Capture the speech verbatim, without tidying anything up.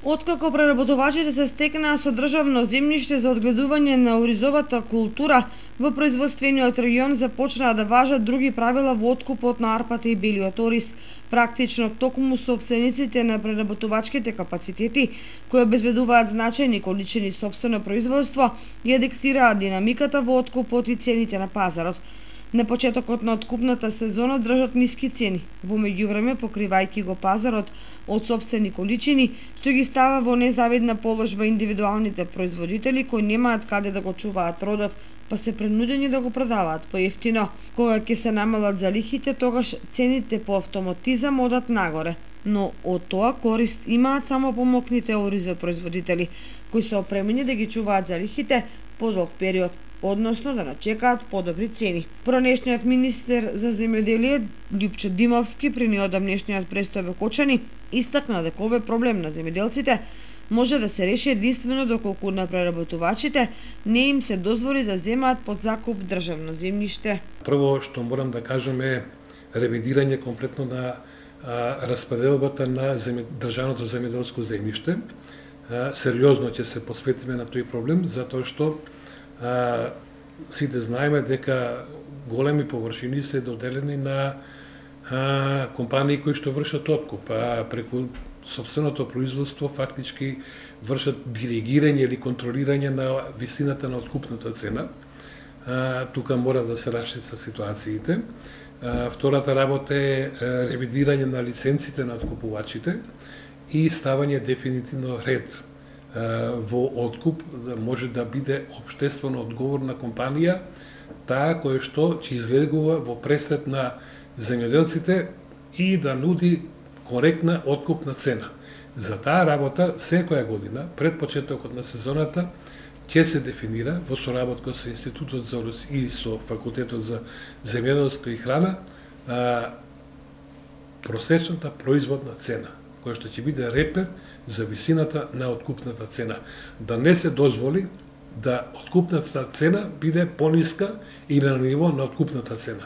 Откако преработувачите се стекнаа со државно земјиште за одгледување на оризовата култура, во производствениот регион започнаа да важат други правила во откупот на арпата и белиот ориз. Практично токму сопствениците на преработувачките капацитети, кои обезбедуваат значајни количини сопствено производство, ја диктираат динамиката во откупот и цените на пазарот. На почетокот на откупната сезона држат ниски цени, во меѓувреме покривајќи го пазарот од сопствени количини, што ги става во незавидна положба индивидуалните производители кои немаат каде да го чуваат родот, па се принудени да го продаваат поевтино. Кога ќе се намалат залихите, тогаш цените по автоматизам одат нагоре. Но од тоа корист имаат само помокните оризопроизводители, кои се опремени да ги чуваат залихите подолг период, односно да начекаат подобри цени. Пронешниот министер за земјоделие Љупчо Димовски при неодамнешниот престој во Кочани истакна дека овој проблем на земјоделците може да се реши единствено доколку на преработувачите не им се дозволи да земаат под закуп државно земјиште. Прво што морам да кажам е ревидирање комплетно на а, распределбата на земј... државното земјоделско земјиште. А, сериозно ќе се посветиме на тој проблем, затоа што А, сите знаеме дека големи површини се доделени на а, компании кои што вршат откуп, а преку сопственото производство фактички вршат диригирање или контролирање на висината на откупната цена. А, тука мора да се расшица ситуациите. А, втората работа е ревидирање на лиценците на откупувачите и ставање дефинитивно ред во откуп, да може да биде општествено одговорна компанија, таа која што ќе излегува во пресред на земјоделците и да нуди коректна откупна цена. За таа работа секоја година пред почетокот на сезоната ќе се дефинира во соработка со Институтот за и со Факултетот за земјоделство и храна а, просечната производна цена, која што ќе биде репер за висината на откупната цена. Да не се дозволи да откупната цена биде пониска или на ниво на откупната цена.